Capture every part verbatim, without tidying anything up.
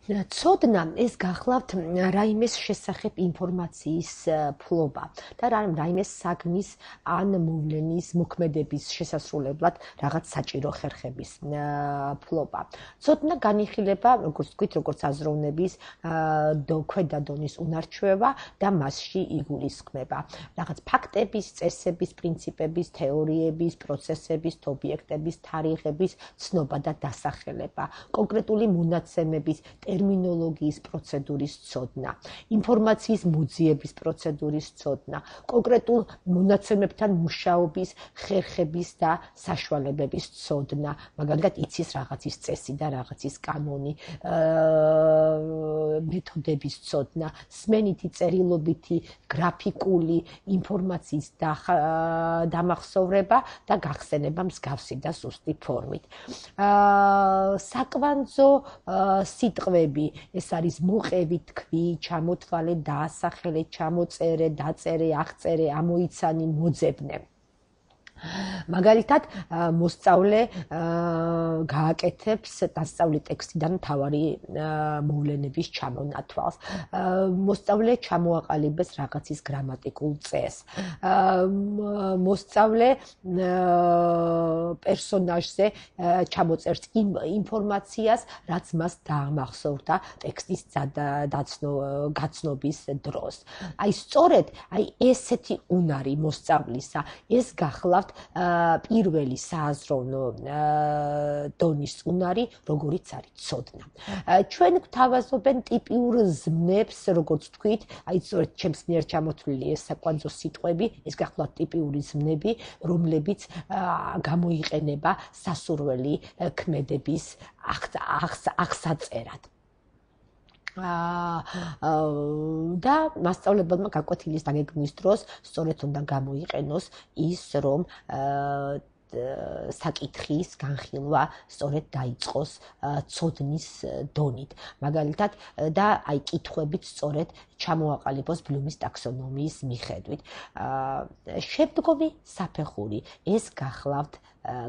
ცოდნა ეს გახლავთ რაიმეს შესახებ ინფორმაციის ფლობა და რაიმეს საგნის ან მოვლენის მოქმედების შესასრულებლად რაღაც საჭირო ხერხების ფლობა. ცოდნა განიხილება, როგორც ვთქვით, როგორც აზროვნების ქვედა დონის უნარჩვევა და მასში იგულისხმება. რაღაც ფაქტების, წესების, პრინციპების, თეორიების, პროცესების, ობიექტების, თარიღების ცნობა და დასახელება. კონკრეტული მონაცემების ტერმინოლოგიის პროცედურის ცოდნა, ინფორმაციის მოძიების პროცედურის ცოდნა, კონკრეტულ მონაცემებთან მუშაობის ხერხების და საშუალებების ცოდნა, მაგალითად იცის რაღაცის წესი და რაღაცის კანონი, მეთოდების ცოდნა, სმენითი, წერილობითი, გრაფიკული ინფორმაციის დამახსოვრება და გახსენება მსგავსი და ზუსტი ფორმით. საკვანძო სიტყვები ეს არის მოყევი, თქვი, ჩამოთვალე, დაასახელე, ჩამოწერე, დაწერე, აღწერე, ამოიცანი, მოძებნე. მაგალითად, მოსწავლე გააკეთებს დასწავლი ტექსტიდან მთავარი მოვლენების ჩამონათვალს. მოსწავლე ჩამოაყალიბებს რაღაცის გრამატიკულ წესს. მოსწავლე პერსონაჟზე ჩამოწერს იმ ინფორმაციას, რაც მას დაამახსოვრდა ტექსტის გაცნობის დროს. აი სწორედ აი ესეთი უნარი მოსწავლისა, ეს გახლავთ პირველი სააზროვნო დონის უნარი, როგორიც არის ცოდნა. ჩვენ გვთავაზობენ ტიპიურ ზმნებს, როგორც ვთქვით, აი სწორედ ჩემს მიერ ჩამოთვლილი ეს საკვანძო სიტყვები, ეს გახლავთ ტიპიური ზმნები, რომლებიც გამოიყენება სასურველი ქმედების აღსაწერად. და მასწავლებელმა გაკვეთილის დაგეგმვის დროს სწორედ უნდა გამოიყენოს ის, რომ საკითხის განხილვა სწორედ დაიწყოს ცოდნის დონით. მაგალითად და აი კითხვებით სწორედ ჩამოაყალიბოს ბლუმის ტაქსონომიის მიხედვით. შემდგომი საფეხური ეს გახლავთ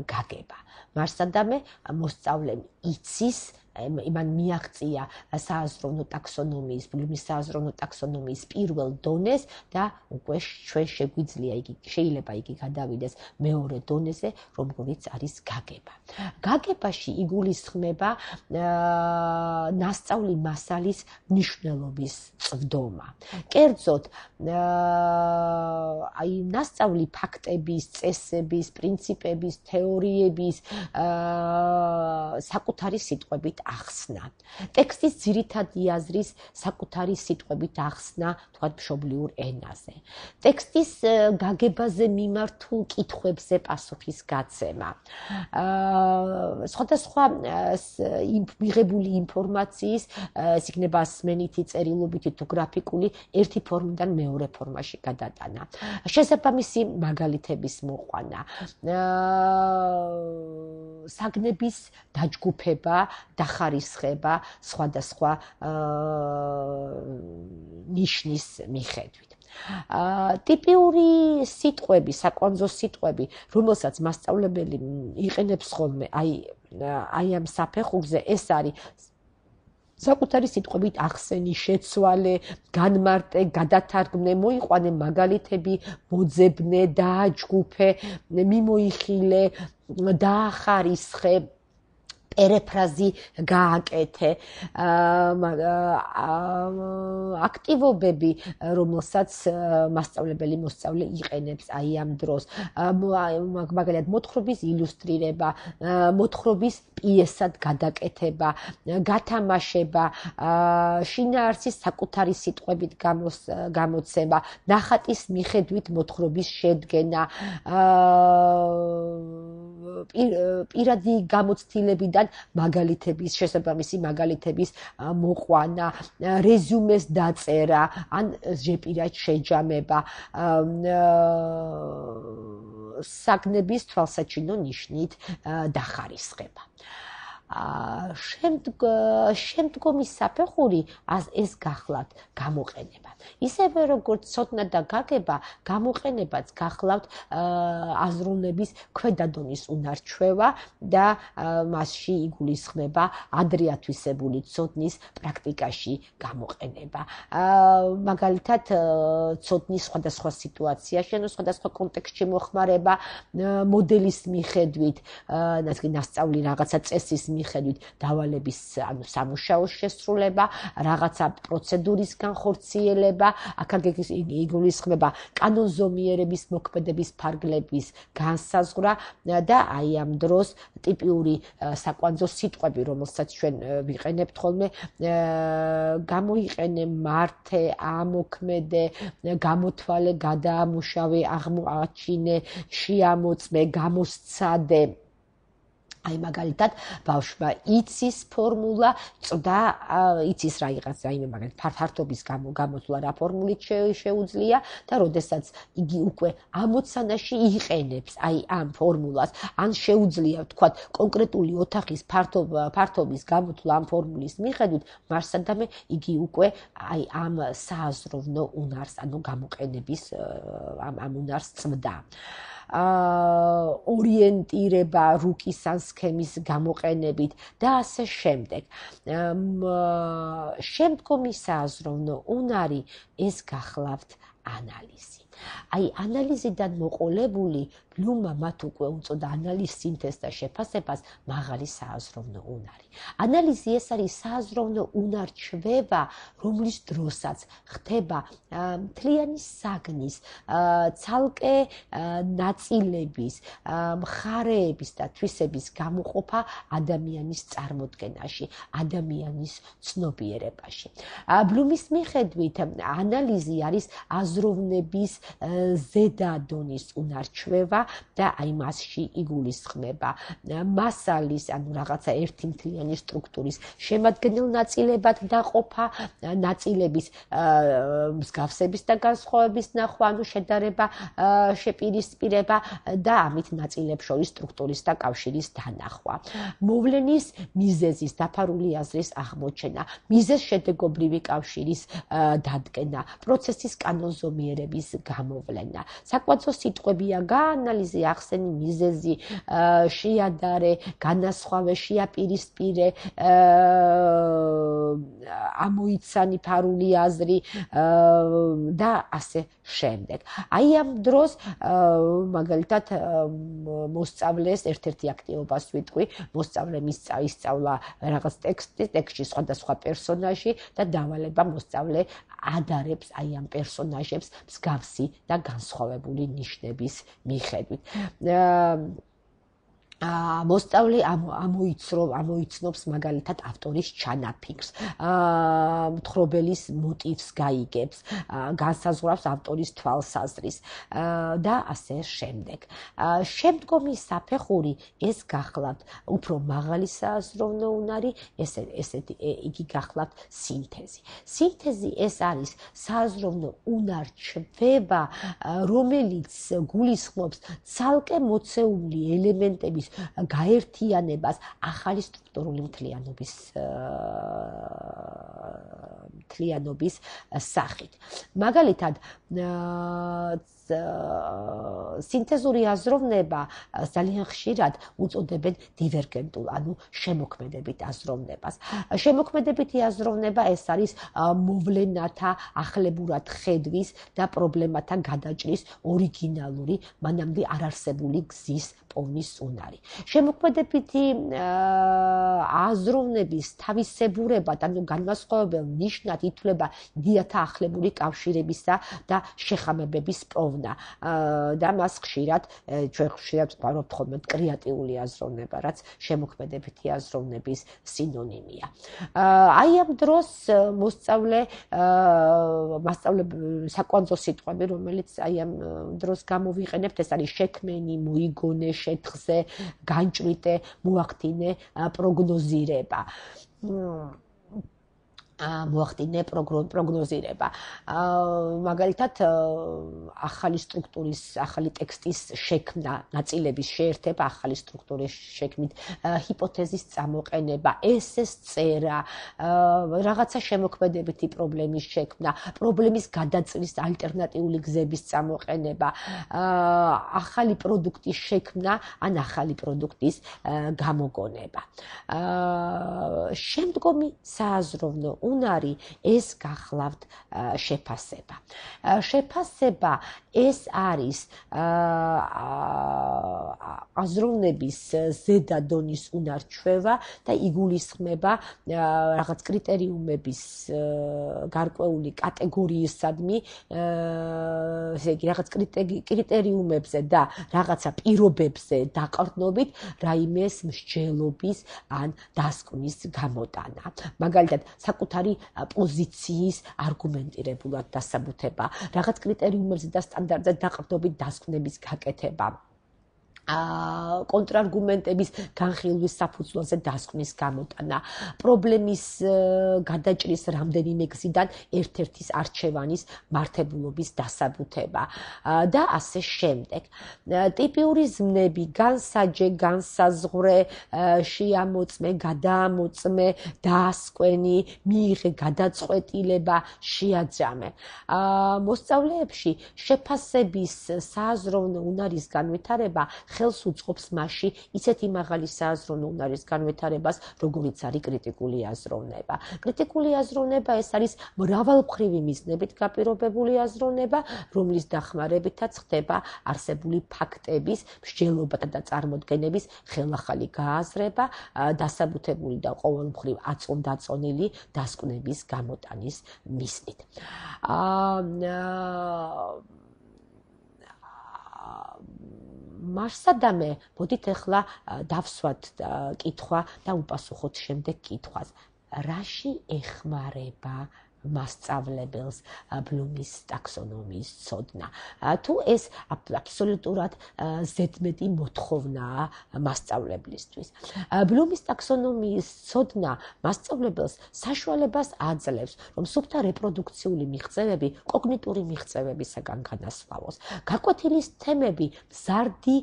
გაგება. მარსადამე მოსწავლემ იცის იმან მიაღწია სააზროვნო ტაქსონომიის, ბლუმის სააზროვნო ტაქსონომიის პირველ დონეს და უკვე ჩვენ შეგვიძლია იგი, შეიძლება იგი გადავიდეს მეორე დონეზე, რომელიც არის გაგება. გაგებაში იგულისხმება ნასწავლი მასალის მნიშვნელობის წვდომა. კერძოდ, აი ნასწავლი ფაქტების, წესების, პრინციპების, თეორიების საკუთარი სიტყვებით ახსნა. ტექსტის ძირითადი აზრის საკუთარი სიტყვებით ახსნა, თქვათ მშობლიურ ენაზე. ტექსტის გაგებაზე მიმართულ კითხვებზე პასუხის გაცემა. სხვადასხვა მიღებული ინფორმაციის, ეს იქნება სმენითი, წერილობითი თუ გრაფიკული, ერთი ფორმიდან მეორე ფორმაში გადატანა. შესაბამისი მაგალითების მოყვანა. საგნების დაჯგუფება, დახარისხება სხვადასხვა ნიშნის მიხედვით. ტიპიური სიტყვები, საკვანძო სიტყვები, რომელსაც მასწავლებელი იყენებს ხოლმე, აი აი ამ საფეხურზე, ეს არის საკუთარი სიტყვებით ახსენი, შეცვალე, განმარტე, გადათარგმნე, მოიყვანე მაგალითები, მოძებნე, დააჯგუფე, მიმოიხილე, დაახარისხე, პერიფრაზი გააკეთე. აქტივობები, რომელსაც მასწავლებელი მოსწავლე იყენებს აი ამ დროს. მაგალითად, მოთხრობის ილუსტრირება, მოთხრობის პიესად გადაკეთება, გათამაშება, შინაარსის საკუთარი სიტყვებით გამოცემა, ნახატის მიხედვით მოთხრობის შედგენა, პირადი გამოცდილებიდან მაგალითების, შესაბამისი მაგალითების მოყვანა, რეზიუმეს დაწერა, ან ჟეპირად შეჯამება, საგნების თვალსაჩინო ნიშნით დახარისხება. შემდგომი საფეხური ეს გახლავთ გამოყენება. ისევე როგორც ცოდნა და გაგება, გამოყენებაც გახლავთ აზროვნების ქვედა დონის უნარჩვევა და მასში იგულისხმება ადრე ათვისებული ცოდნის პრაქტიკაში გამოყენება. მაგალითად, ცოდნის სხვადასხვა სიტუაციაში, ანუ სხვადასხვა კონტექსტში მოხმარება, მოდელის მიხედვით, ნასწავლი რაღაცა წესის მიხედვით დავალების, ანუ სამუშაოს შესრულება, რაღაცა პროცედურის განხორციელება, აქ იგულისხმება კანონზომიერების მოქმედების ფარგლების განსაზღვრა და აი ამ დროს ტიპიური საკვანძო სიტყვები, რომელსაც ჩვენ ვიყენებთ ხოლმე, გამოიყენე, მართე, ამოქმედე, გამოთვალე, გადაამუშავე, აღმოაჩინე, შეამოწმე, გამოსცადე. აი მაგალითად ბავშვმა იცის ფორმულა, წვდა იცის რაღაც რაიმე მაგალითად ფართობის გამოსვლა რა ფორმულით შეუძლია და როდესაც იგი უკვე ამოცანაში იყენებს აი ამ ფორმულას, ან შეუძლია ვთქვათ კონკრეტული ოთახის ფართობის გამოსვლა ამ ფორმულის მიხედვით, მარსადამე იგი უკვე აი ამ სააზროვნო უნარს, ანუ გამოყენების ამ უნარს წვდა. ორიენტირება რუკის ან სქემის გამოყენებით და ასე შემდეგ. შემდგომი სააზროვნო უნარი ეს გახლავთ ანალიზი. აი ანალიზიდან მოყოლებული ბლუმმა მათ უკვე უწოდა ანალიზ სინთეზს და შეფასებას მაღალი სააზროვნო უნარი. ანალიზი ეს არის სააზროვნო უნარჩვევა, რომლის დროსაც ხდება მთლიანი საგნის, ცალკე ნაწილების, მხარეების და თვისების გამოყოფა ადამიანის წარმოდგენაში, ადამიანის ცნობიერებაში. ბლუმის მიხედვით ანალიზი არის აზროვნების ზედა დონის უნარჩვევა და აი მასში იგულისხმება მასალის, ანუ რაღაცა ერთი მთლიანი სტრუქტურის შემადგენელ ნაწილებად დაყოფა, ნაწილების მსგავსების და განსხვავების ნახვა, ანუ შედარება, შეპირისპირება და ამით ნაწილებს შორის სტრუქტურის და კავშირის დანახვა. მოვლენის მიზეზის დაფარული აზრის აღმოჩენა, მიზეზ შედეგობრივი კავშირის დადგენა, პროცესის კანონზომიერების გამოვლენა. საკვაცო სიტყვებია გაანალიზი, ახსენი, მიზეზი, შეადარე, განასხვავე, შეაპირისპირე, ამოიცანი ფარული აზრი და ასე შემდეგ. აი ამ დროს მაგალითად მოსწავლეს ერთ-ერთი აქტივობას ვიტყვი, მოსწავლემ ისწავლა რაღაც ტექსტი, ტექსტში სხვადასხვა პერსონაჟი და დავალება მოსწავლე ადარებს აი ამ პერსონაჟებს მსგავსი და განსხვავებული ნიშნების მიხედვით. მოსწავლე ამოიცნობს მაგალითად ავტორის ჩანაფიქრს, მთხრობელის მოტივს გაიგებს, განსაზღვრავს ავტორის თვალსაზრის და ასე შემდეგ. შემდგომი საფეხური ეს გახლავთ უფრო მაღალი სააზროვნო უნარი, ესეთი იგი გახლავთ სინთეზი. სინთეზი ეს არის სააზროვნო უნარჩვევა, რომელიც გულისხმობს ცალკე მოცეული ელემენტების გაერთიანებას ახალი სტრუქტურული მთლიანობის მთლიანობის სახით. მაგალითად, სინთეზური აზროვნება ძალიან ხშირად უწოდებენ დივერგენტულ, ანუ შემოქმედებით აზროვნებას. შემოქმედებითი აზროვნება ეს არის მოვლენათა ახლებურად ხედვის და პრობლემათა გადაჭრის ორიგინალური, მანამდე არ არსებული გზის პოვნის უნარი. შემოქმედებითი აზროვნების თავისებურებად, ანუ განმასხვავებელ ნიშნად ითვლება იდეათა ახლებური კავშირებისა და შეხამებების პოვნა და მას ხშირად ჩვენ ხშირად ვყავართ ხოლმე კრეატიული აზროვნება, რაც შემოქმედებითი აზროვნების სინონიმია. აი ამ დროს მოსწავლე მასწავლე საკვანძო სიტყვები, რომელიც აი ამ დროს გამოვიყენებთ, ეს არის შექმენი, მოიგონე, შეთხზე, განჭვრიტე, მოახდინე, პროგნოზირება. მოახდინე პროგნოზირება. მაგალითად, ახალი სტრუქტურის, ახალი ტექსტის შექმნა, ნაწილების შეერთება, ახალი სტრუქტურის შექმნით, ჰიპოთეზის წამოყენება, ესეს წერა, რაღაცა შემოქმედებითი პრობლემის შექმნა, პრობლემის გადაწყვეტის ალტერნატიული გზების წამოყენება, ახალი პროდუქტის შექმნა, ან ახალი პროდუქტის გამოგონება. შემდგომი სააზროვნო უნარი ეს გახლავთ შეფასება. შეფასება ეს არის აზროვნების ზედა დონის უნარჩვევა და იგულისხმება რაღაც კრიტერიუმების გარკვეული კატეგორიისადმი, ესე იგი რაღაც კრიტერიუმებზე და რაღაცა პირობებზე დაყრდნობით რაიმეს მსჯელობის ან დასკვნის გამოტანა. მაგალითად, საკუთარი პოზიციის არგუმენტირებულად დასაბუთება, რაღაც კრიტერიუმებზე და სტანდარტზე დაყრდნობით დასკვნების გაკეთება. კონტრარგუმენტების განხილვის საფუძველზე დასკვნის გამოტანა, პრობლემის გადაჭრის რამდენიმე გზიდან ერთ-ერთის არჩევანის მართებულობის დასაბუთება და ასე შემდეგ. ტიპიური ზმნები, განსაჯე, განსაზღვრე, შეამოწმე, გადაამოწმე, დაასკვენი, მიიღე გადაწყვეტილება, შეაძამე. მოსწავლეებში შეფასების სააზროვნო უნარის განვითარება ხელს უწყობს მასში ისეთი მაღალი სააზროვნო უნარის განვითარებას, როგორიც არის კრიტიკული აზროვნება. კრიტიკული აზროვნება ეს არის მრავალმხრივი მიზნებით გაპირობებული აზროვნება, რომლის დახმარებითაც ხდება არსებული ფაქტების, მსჯელობათა და წარმოდგენების ხელახალი გააზრება, დასაბუთებული და ყოველმხრივ აწონდაწონილი დასკვნების გამოტანის მიზნით. მარსადამე, მოდით ახლა დავსვათ კითხვა და უპასუხოთ შემდეგ კითხვას. რაში ეხმარება მასწავლებელს ბლუმის ტაქსონომიის ცოდნა? თუ ეს აბსოლუტურად ზედმეტი მოთხოვნაა მასწავლებლისთვის. ბლუმის ტაქსონომიის ცოდნა მასწავლებელს საშუალებას აძლევს, რომ სუფთა რეპროდუქციული მიღწევები კოგნიტური მიღწევებისაგან განასხვავოს. გაკვეთილი თემები მზარდი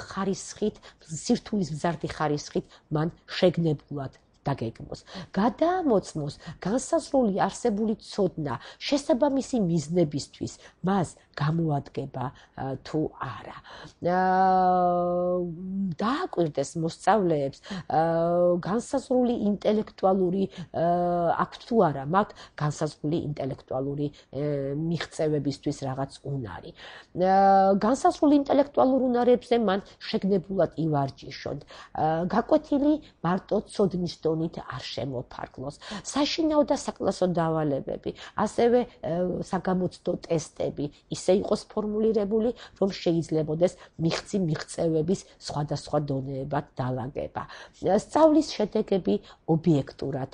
ხარისხით, სირთულის მზარდი ხარისხით მან შეგნებულად დაგეგმოს. გადაამოწმოს განსაზღვრული არსებული ცოდნა შესაბამისი მიზნებისთვის, მას გამოადგება თუ არა. დააკვირდეს მოსწავლეებს განსაზღვრული ინტელექტუალური აქვთ თუ არა, მაქვს განსაზღვრული ინტელექტუალური მიღწევებისთვის რაღაც უნარი. განსაზღვრული ინტელექტუალურ უნარებზე მან შეგნებულად ივარჯიშოთ. გაკვეთილი მარტო ცოდნის დონით არ შემოფარგლოს. საშინაო და საკლასო დავალებები, ასევე საგამოცდო ტესტები ისე იყოს ფორმულირებული, რომ შეიძლებოდეს მიღწი მიღწევების სხვადასხვა დონეებად დალაგება. სწავლის შედეგები ობიექტურად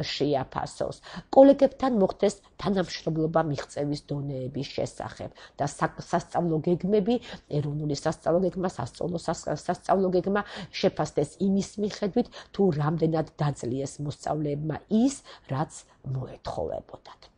შეაფასოს. კოლეგებთან მოხდეს თანამშრომლობა მიღწევის დონეების შესახებ და სასწავლო გეგმები, ეროვნული სასწავლო გეგმა, სასწავლო სასწავლო გეგმა შეფასდეს იმის მიხედვით, თუ რამდენად დაძლიეს მოსწავლეებმა ის, რაც მოეთხოვებოდათ.